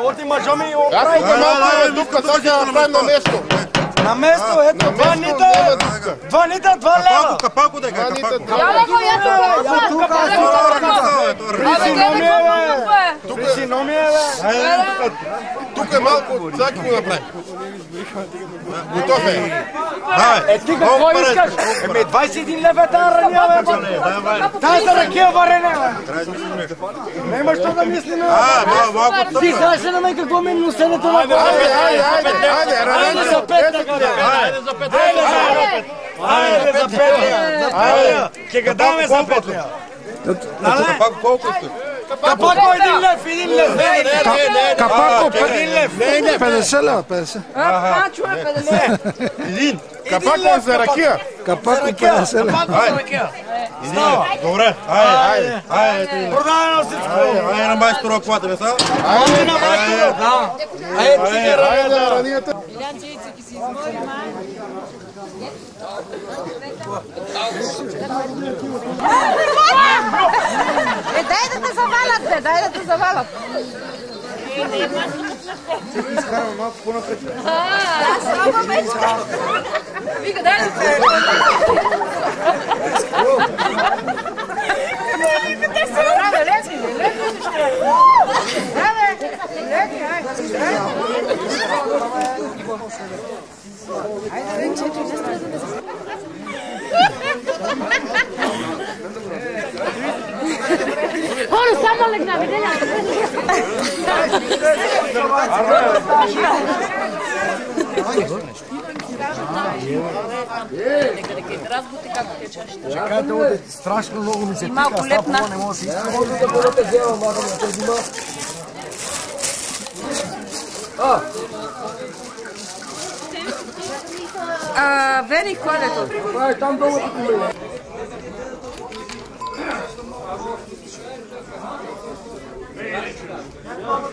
Отима жами и оправи го малко дупка, сега направим на место. На место, ето, 2 нита, 2 лева. Капако дека, капако. Тук е малко, сега ќе го направим. Готов е. Е, ти какво искаш? Еме, 21 лева тая раня, бе. Тая за ракия варене, бе. Нема што да мислиме. Ти знаеш ли на мен какво ми носенето на това? Айде за 5 така, бе. Айде за 5. Айде за 5. Ке га даме за 5 лева. Капако колко сте? Капако 1 лев, 1 лев. Капако 1 лев. 50 лева, 50. Чуе 50. Един. Капако за ракия. Капако 50 лева. Капако за ракия. Добре, айде. Продадено всичко. Айде на майстора, ако платиме сега. Айде на майстора. Да. Айде ти ги ранията. Илянче Ицек си измори, май. Дай да те завалят, бе, дай да те завалят. Изкараме малко по-напред. Слаба мечка. Вика, дай да те. Браво, лети, лети ще. Браво, лети, айде. Айде, рече, не стреда. Хора, само легна, виделя. Чакайте, оде, страшно много ми се пика, малко лепна. не може да се иска. Може да бъдете взема, мага да те взима. Вери, кой е то? Това е там долу като ме. Готов